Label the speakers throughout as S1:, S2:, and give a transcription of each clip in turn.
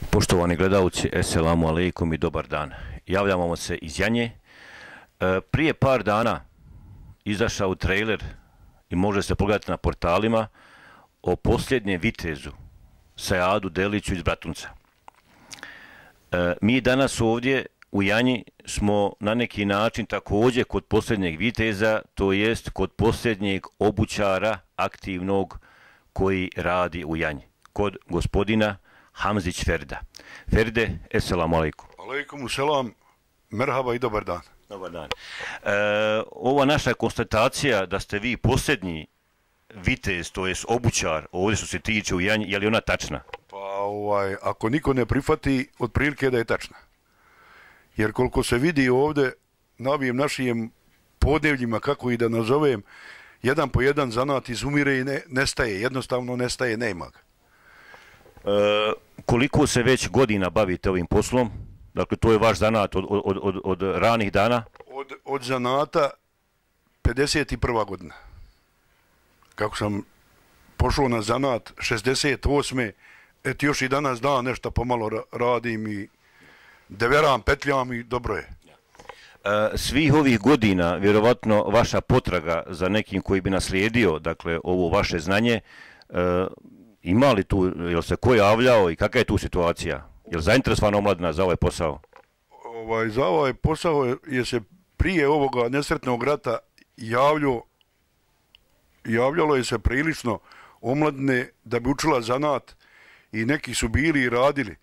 S1: Poštovani gledalci, eselamu alejkum i dobar dan. Javljamo se iz Janje. Prije par dana izašao trailer i može se pogledati na portalima o posljednjem vitezu Sajadu Deliću iz Bratunca. Mi danas ovdje u Janji smo na neki način također kod posljednjeg viteza, to jest kod posljednjeg obućara aktivnog koji radi u Janji, kod gospodina Hamzić Ferda. Ferde, eselamu alejkum.
S2: Alejkum selam, merhaba i dobar dan.
S1: Dobar dan. Ova naša konstatacija da ste vi posljednji vitez, to jest obućar, ovdje što se tiče u Janji, je li ona tačna?
S2: Pa ako niko ne prihvati, otprilike da je tačna. Jer koliko se vidi ovdje na ovim našim podnevljima, kako i da nazovem, jedan po jedan zanat izumire i nestaje, jednostavno nestaje, nema ga.
S1: Koliko se već godina bavite ovim poslom? Dakle, to je vaš zanat od ranih dana?
S2: Od zanata 51. godina. Kako sam pošao na zanat 68. Eto još i danas dan nešto pomalo radim i deveram, petljam i dobro je.
S1: Svih ovih godina, vjerovatno, vaša potraga za nekim koji bi naslijedio, dakle, ovo vaše znanje, ima li tu, jel se ko javljao i kakva je tu situacija? Je li zainteresovana omladina za ovaj posao?
S2: Za ovaj posao je se prije ovoga nesretnog rata javljalo je se prilično omladine da bi učila zanat i neki su bili i radili.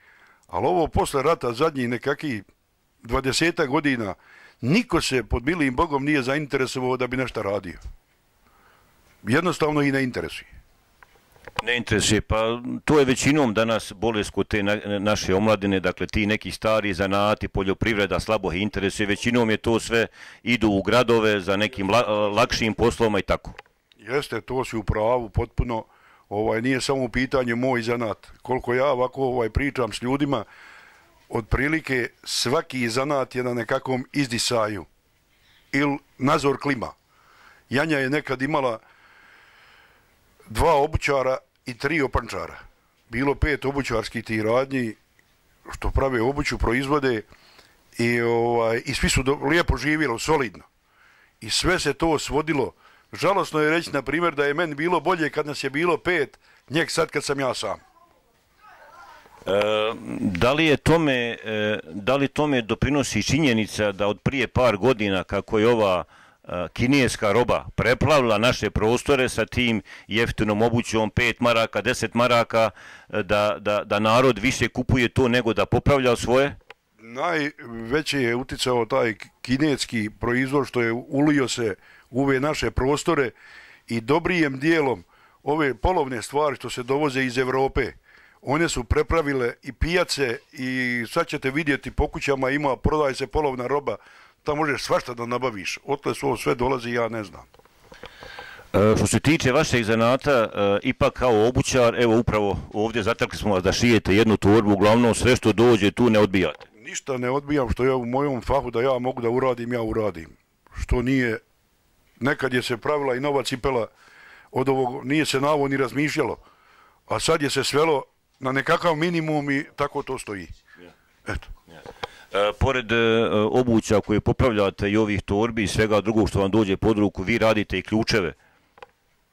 S2: Ali ovo posle rata zadnjih nekakvih 20 godina niko se pod milim Bogom nije zainteresovao da bi nešto radio. Jednostavno i ne interesuje.
S1: Ne interesuje, pa to je većinom danas bolest kod te naše omladine, dakle ti neki stari zanati, poljoprivreda slabo ih interesuje, većinom je to sve idu u gradove za nekim lakšim poslovima i tako.
S2: Jeste, to si u pravu potpuno, nije samo u pitanju moj zanat. Koliko ja ovako pričam s ljudima, otprilike svaki zanat je na nekakvom izdisaju ili nazor klima. Janja je nekad imala 2 obućara i 3 opančara. Bilo 5 obućarskih tih radnji što prave obuću, proizvode i svi su lijepo živjeli, solidno. I sve se to svodilo. Žalosno je reći, na primjer, da je meni bilo bolje kad nas je bilo 5, njeg sad kad sam ja sam.
S1: Da li tome doprinosi činjenica da od prije par godina kako je ova kineska roba preplavila naše prostore sa tim jeftinom obućom 5 maraka, 10 maraka, da narod više kupuje to nego da popravlja svoje?
S2: Najveće je uticao taj kineski proizvod što je ulio se u ove naše prostore i dobrijem dijelom ove polovne stvari što se dovoze iz Evrope. One su prepravile i pijace i sad ćete vidjeti po kućama prodaje se polovna roba. Tamo možeš svašta da nabaviš. Otle su ovo sve dolazi, ja ne znam.
S1: Što se tiče vašeg zanata, ipak kao obućar, evo upravo ovdje zatakli smo vas da šijete jednu torbu, uglavnom sve što dođe tu ne odbijate.
S2: Ništa ne odbijam što je u mojom fahu da ja mogu da uradim, ja uradim. Što nije, nekad je se pravila i nova cipela, od ovog nije se na ovo ni razmišljalo, a sad je se svelo na nekakav minimum i tako to stoji. Eto.
S1: Pored obuća koje popravljate i ovih torbi i svega drugog što vam dođe pod ruku, vi radite i ključeve?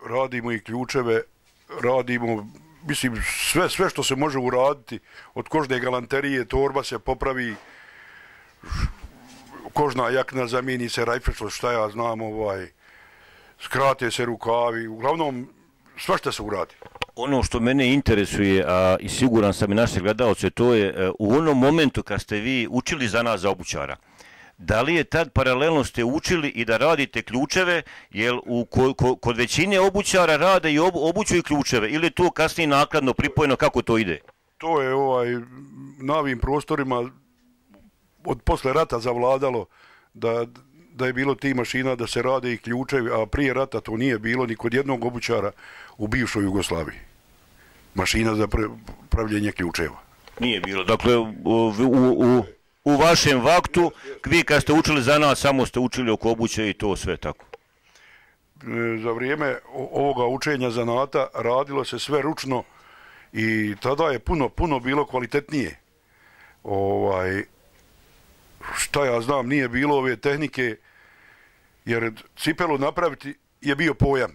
S2: Radimo i ključeve, radimo, mislim, sve što se može uraditi, od kožne galanterije, torba se popravi, kožna jakna zamijeni se rajfešlo, šta ja znam, skrate se rukavi, uglavnom svašta se uradi.
S1: Ono što mene interesuje, a i siguran sam i naše gledalce, to je u onom momentu kad ste vi učili za nas za obućara, da li je tad paralelno ste učili i da radite ključeve, jer kod većine obućara rade i obuću i ključeve, ili je to kasnije nakladno pripojeno, kako to ide?
S2: To je na ovim prostorima od posle rata zavladalo da je bilo ti mašina da se rade i ključevi, a prije rata to nije bilo ni kod jednog obućara u bivšoj Jugoslaviji. Mašina za pravljenje ključeva.
S1: Nije bilo. Dakle, u vašem vaktu, vi kad ste učili za nas, samo ste učili oko obuće i to sve tako?
S2: Za vrijeme ovoga učenja zanata radilo se sve ručno I tada je puno bilo kvalitetnije. Šta ja znam, nije bilo ove tehnike, jer cipelu napraviti je bio pojam.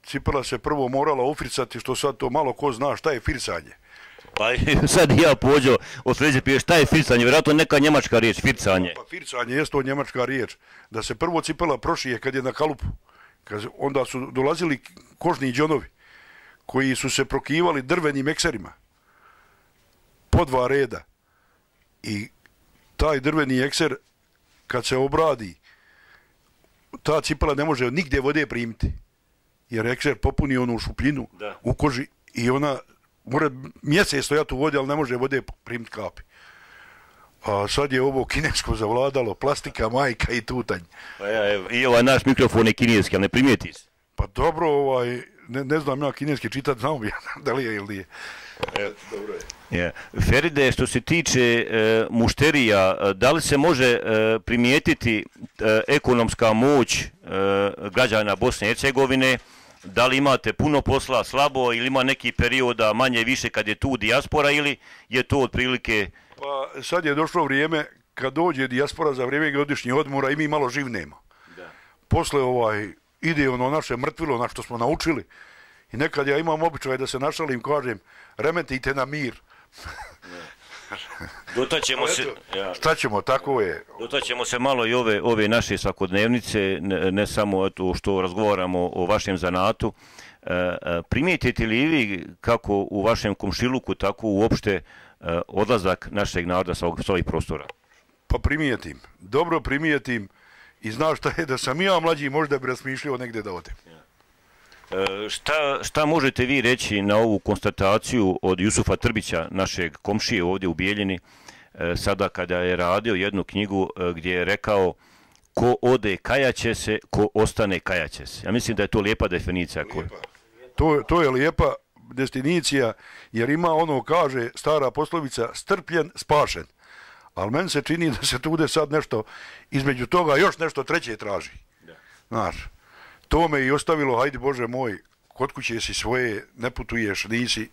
S2: Cipela se prvo morala ufricati, što sad to malo ko zna šta je firsanje.
S1: Pa sad ja pođo od sljedeće pije šta je fircanje, vjerojatno neka njemačka riječ, fircanje.
S2: Pa fircanje je to njemačka riječ. Da se prvo cipela prošije kad je na kalupu. Onda su dolazili kožni džonovi koji su se prokivali drvenim ekserima. Po 2 reda. I taj drveni ekser kad se obradi, ta cipela ne može nigdje vode primiti. Jer ekser popuni onu šupljinu u koži i ona mora mjesec stojati u vodi, ali ne može vode primiti kapi. A sad je ovo kinesko zavladalo, plastika, majka i tutanj.
S1: I ovaj naš mikrofon je kineski, ali ne primijeti se.
S2: Pa dobro, ne znam ja kineski čitati, znam ja da li je ili nije. Dobro je.
S1: Feride, što se tiče mušterija, da li se može primijetiti ekonomska moć građana Bosne i Hercegovine? Da li imate puno posla, slabo, ili ima neki perioda manje više kad je tu dijaspora, ili je to otprilike...
S2: Pa sad je došlo vrijeme kad dođe dijaspora za vrijeme godišnjih odmora i mi malo živnemo. Posle ide ono naše mrtvilo na što smo naučili i nekad ja imam običaj da se našalim, kažem, remetite na mir.
S1: Dotaćemo se...
S2: Šta ćemo, tako je.
S1: Dotaćemo se malo i ove naše svakodnevnice, ne samo što razgovaramo o vašem zanatu. Primijetite li vi kako u vašem komšiluku, tako uopšte odlazak našeg naroda sa ovih prostora?
S2: Pa primijetim, dobro primijetim i znaš šta je, da sam ja mlađi možda bi razmišljao negdje da odem.
S1: Šta možete vi reći na ovu konstataciju od Jusufa Trbića, našeg komšije ovdje u Bijeljini, sada kada je radio jednu knjigu gdje je rekao ko ode kajaće se, ko ostane kajaće se. Ja mislim da je to lijepa definicija.
S2: To je lijepa definicija, jer ima ono, kaže stara poslovica, strpljen, spašen. Ali meni se čini da se tude sad nešto, između toga još nešto treće traži. Znaš, to me i ostavilo, hajde Bože moj, kod kuće si svoje, ne putuješ, nisi.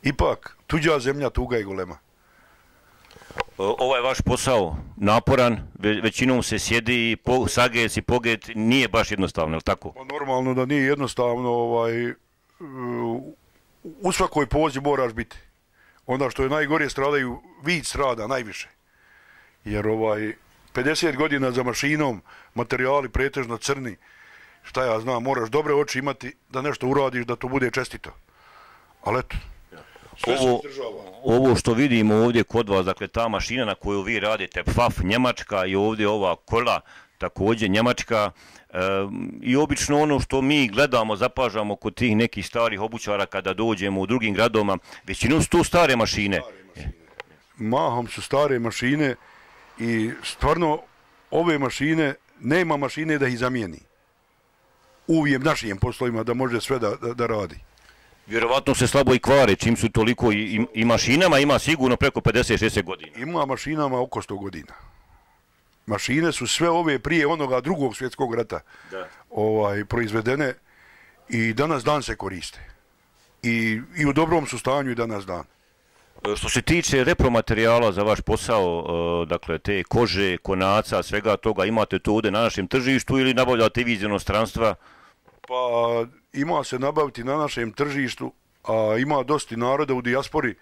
S2: Ipak, tuđa zemlja, tuga i golema.
S1: Ovaj vaš posao, naporan, većinom se sjedi i sagec i pogled, nije baš jednostavno, je li tako?
S2: Pa normalno da nije jednostavno, u svakoj pozi moraš biti. Onda što je najgore stradaju, vid strada najviše. Jer 50 godina za mašinom, materijali pretežno crni, šta ja znam, moraš dobre oči imati da nešto uradiš, da to bude čestito. Ali eto, sve se izdržava.
S1: Ovo što vidimo ovdje kod vas, dakle ta mašina na koju vi radite, PFAF Njemačka, i ovdje ova kola također Njemačka, i obično ono što mi gledamo, zapažamo kod tih nekih starih obućara kada dođemo u drugim gradovima, većinom su to stare mašine.
S2: Mahom su stare mašine i stvarno ove mašine, nema mašine da ih zamijeni. Uvijek našim poslovima da može sve da radi.
S1: Vjerovatno se slabo i kvare, čim su toliko i mašinama, ima sigurno preko 50-60 godina.
S2: Ima mašinama oko 100 godina. Mašine su sve ove prije onoga drugog svjetskog rata proizvedene i danas dan se koriste. I u dobrom su stanju i danas dan.
S1: Što se tiče repromaterijala za vaš posao, dakle te kože, konaca, svega toga, imate to ovdje na našem tržištu ili nabavljate vi iz inostranstva?
S2: Pa ima se nabaviti na našem tržištu, a ima dosta naroda u dijaspori,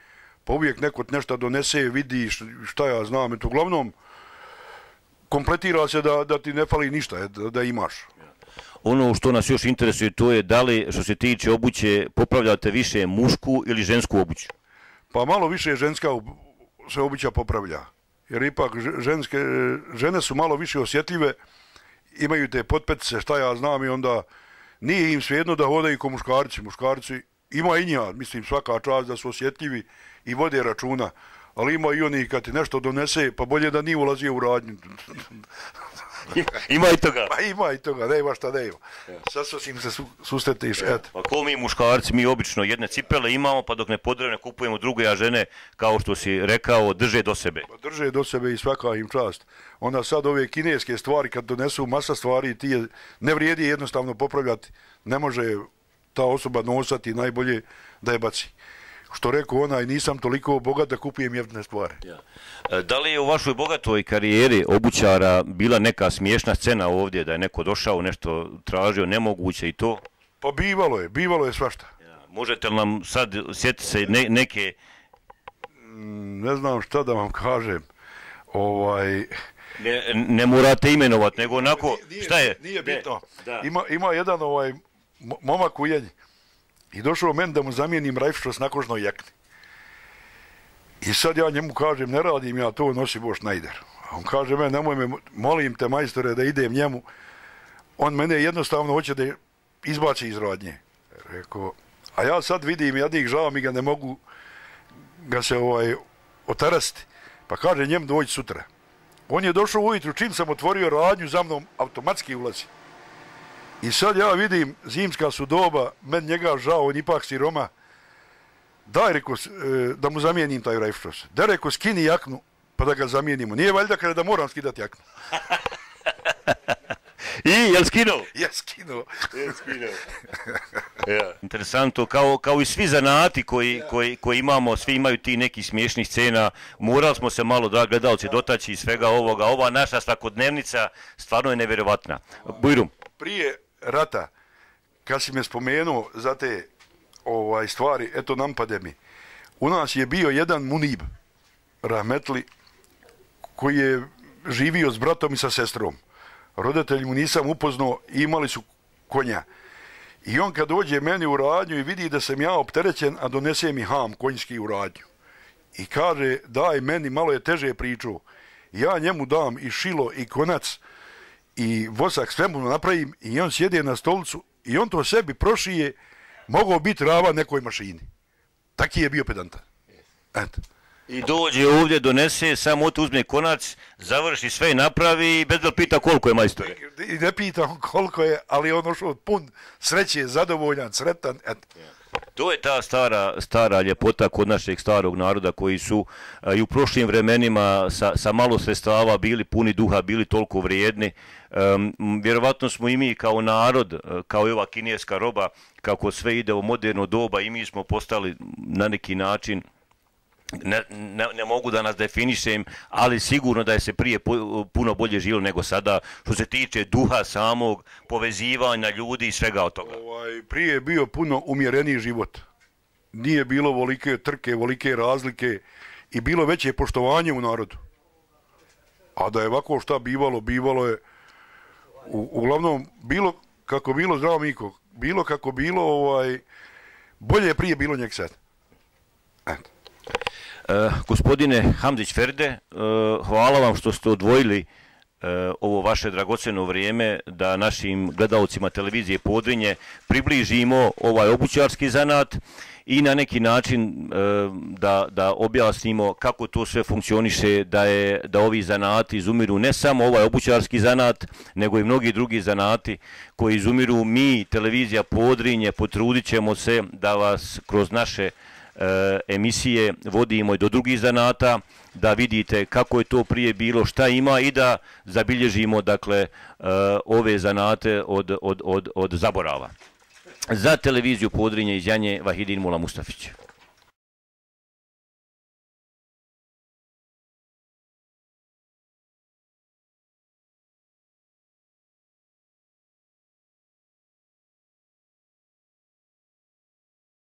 S2: pa uvijek neko nešto donese, vidi šta ja znam. Eto, uglavnom, kompletira se da ti ne fali ništa, da imaš.
S1: Ono što nas još interesuje, to je da li, što se tiče obuće, popravljate više mušku ili žensku obuću?
S2: Pa malo više ženska se obuća popravlja. Jer ipak žene su malo više osjetljive, imaju te potpetice, šta ja znam, i onda nije im svejedno da hodaju ko muškarci. Muškarci ima i njih, mislim, svaka čast da su osjetljivi i vode računa. Ali ima i oni kad ti nešto donese, pa bolje da nije ulazio u radnju.
S1: Ima i toga.
S2: Pa ima i toga, nema šta nema. Sad im se sustetiš, eto.
S1: Pa ko mi muškarci, mi obično jedne cipele imamo, pa dok ne podrevne kupujemo druge, a žene, kao što si rekao, drže do sebe.
S2: Pa drže do sebe i svaka im čast. Onda sad ove kineske stvari, kad donesu masa stvari, ti ne vrijedi jednostavno popravljati. Ne može ta osoba nosati, najbolje da je baci. što rekao onaj, nisam toliko bogat da kupujem jeftine stvari.
S1: Da li je u vašoj bogatoj karijeri obućara bila neka smiješna scena ovdje, da je neko došao, nešto tražio, nemoguće i to?
S2: Pa bivalo je svašta.
S1: Možete li nam sad sjetiti se neke...
S2: Ne znam šta da vam kažem.
S1: Ne morate imenovati, nego onako, šta je?
S2: Nije bitno. Ima jedan momak u Jelji i došao meni da mu zamijenim rajfštos na kožnoj jakni. I sad ja njemu kažem, ne radim ja to, nosi Boš najder. A on kaže meni, nemoj me, molim te majstore da idem njemu. On mene jednostavno hoće da izbaci iz radnje. Rekao, a ja sad vidim jadnik, žao mi ga, ne mogu ga se otarasti. Pa kaže njemu dođi sutra. On je došao ujutru, čim sam otvorio radnju, za mnom automatski ulazi. I sad ja vidim, zimska su doba, meni njega žao, on ipak siroma. Daj, reko, da mu zamijenim taj rajfštos. Da, reko, skini jaknu, pa da ga zamijenimo. Nije valjda kada da moram skidati jaknu.
S1: I, jel skinuo?
S2: Ja skinuo.
S1: Interesantno, kao i svi zanati koji imamo, svi imaju ti neki smiješnih scena, morali smo se malo, da gledalci, dotaći iz svega ovoga. Ova naša svakodnevnica stvarno je nevjerovatna. Bujrum.
S2: Prije rata, kad si me spomenuo za te stvari, eto nampade mi. U nas je bio jedan munib, rahmetli, koji je živio s bratom i sa sestrom. Roditelji mu nisam upoznao i imali su konja. I on kad dođe meni u radnju i vidi da sam ja opterećen, a donese mi ham konjski u radnju. I kaže, daj meni, malo je teže pričao. Ja njemu dam i šilo i konac i vosak, sve mu napravim i on sjede na stolicu i on to sebi prošije, mogao biti rava nekoj mašini. Taki je bio pedantan. Eto.
S1: I dođe ovdje, donese, samo to uzme konac, završi sve i napravi i bez da pita koliko je majstore.
S2: I ne pitam koliko je, ali on ošao pun sreće, zadovoljan, sretan. Eto.
S1: To je ta stara ljepota kod našeg starog naroda koji su i u prošlim vremenima sa malo sredstava bili puni duha, bili toliko vrijedni. Vjerovatno smo i mi kao narod, kao i ova kineska roba, kako sve ide u moderno doba i mi smo postali na neki način, ne mogu da nas definišem, ali sigurno da je se prije puno bolje živjelo nego sada, što se tiče duha samog, povezivanja ljudi i svega od toga.
S2: Prije je bio puno umjereniji život. Nije bilo volike trke, volike razlike i bilo veće poštovanje u narodu. A da je ovako šta bivalo je uglavnom bilo kako bilo, zdravo Miko, bilo kako bilo, bolje je prije bilo njeg sad. Eto.
S1: Gospodine Hamzić Ferde, hvala vam što ste odvojili ovo vaše dragocjeno vrijeme da našim gledalcima televizije Podrinje približimo ovaj obućarski zanat i na neki način da objasnimo kako to sve funkcioniše, da ovi zanati izumiru, ne samo ovaj obućarski zanat, nego i mnogi drugi zanati koji izumiru. Mi, televizija Podrinje, potrudit ćemo se da vas kroz naše emisije vodimo i do drugih zanata, da vidite kako je to prije bilo, šta ima i da zabilježimo, dakle, ove zanate od zaborava. Za televiziju Podrinje iz Janje, Vahidin Mula Mustafić.